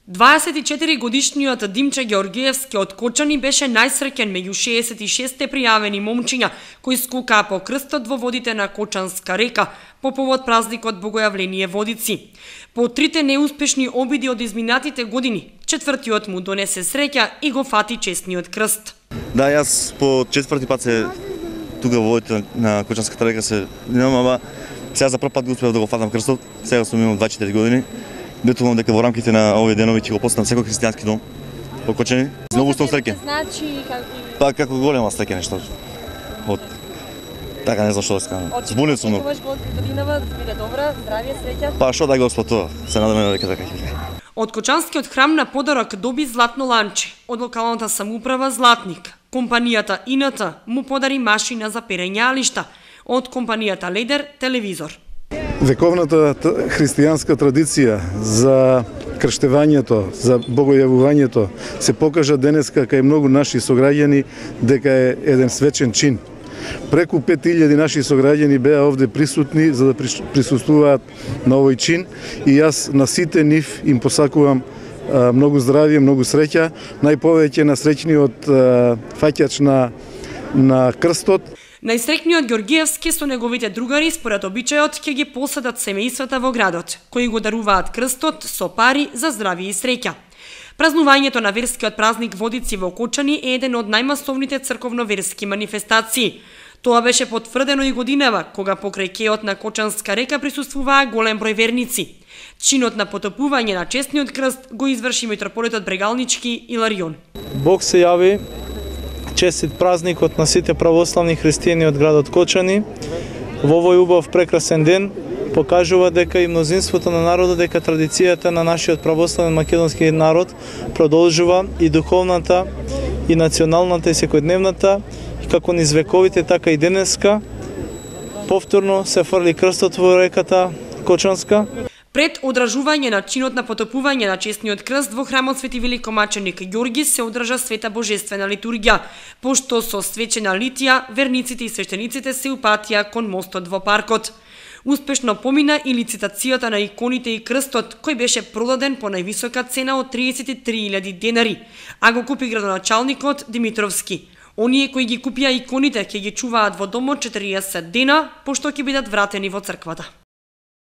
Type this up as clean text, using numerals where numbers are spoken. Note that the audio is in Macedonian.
24-годишниот Димче Георгиевски од Кочани беше најсреќен меѓу 66 пријавени момчиња кои скокаа по крстот во водите на Кочанска река по повод празникот Богојавление Водици. По трите неуспешни обиди од изминатите години, четвртиот му донесе среќа и го фати честниот крст. Да, јас по четврти пат се тука во водите на Кочанската река се немам, ама сега за прв пат го успеав да го фатам крстот. Сега сум имал 24 години. Детувам дека во рамките на овие денови ќе го постам секој христијански дом во Кочани. Многу сум среќен. Значи Па како голема среќа нешто. Од така не знам што да скажам. Збунет сум. Очекуваш годинава да биде добра, здравје, среќа. Па што да Господ тоа. Се надеваме дека така ќе биде. Од Кочанскиот храм на подарок доби златно ланче, од локалната самоуправа Златник. Компанијата ИНТ му подари машина за перење алишта, од компанијата Ледер телевизор. Вековната христијанска традиција за крштевањето, за богојавувањето се покажа денеска кај многу наши сограѓани дека е еден свечен чин. Преку 5000 наши сограѓани беа овде присутни за да присуствуваат на овој чин и јас на сите нив им посакувам многу здравје, многу среќа, најповеќе на среќниот фаќач на крстот. Најсреќниот Георгиевски со неговите другари според обичајот ќе ги посадат семејствата во градот, кои го даруваат крстот со пари за здравје и среќа. Празнувањето на верскиот празник Водици во Кочани е еден од најмасовните црковно-верски манифестации. Тоа беше потврдено и годинава, кога покрај кеот на Кочанска река присуствуваа голем број верници. Чинот на потопување на честниот крст го изврши митрополитот Брегалнички Иларион. Бог се јави, честит празникот на сите православни христијани од градот Кочани. Во овој убав прекрасен ден покажува дека и мнозинството на народот, дека традицијата на нашиот православен македонски народ продолжува и духовната, и националната, и секојдневната, и како низ вековите, така и денеска. Повторно се фрли крстот во реката Кочанска. Пред одражување на чинот на потопување на честниот крст во храмот Свети Великомаченик Ѓорги се одржа света божествена литургија, пошто со свечена литија верниците и свештениците се упатија кон мостот во паркот. Успешно помина и лицитацијата на иконите и крстот, кој беше продаден по највисока цена од 33.000 денари, а го купи градоначалникот Димитровски. Оние кои ги купија иконите ќе ги чуваат во домот 40 дена, пошто ќе бидат вратени во црквата.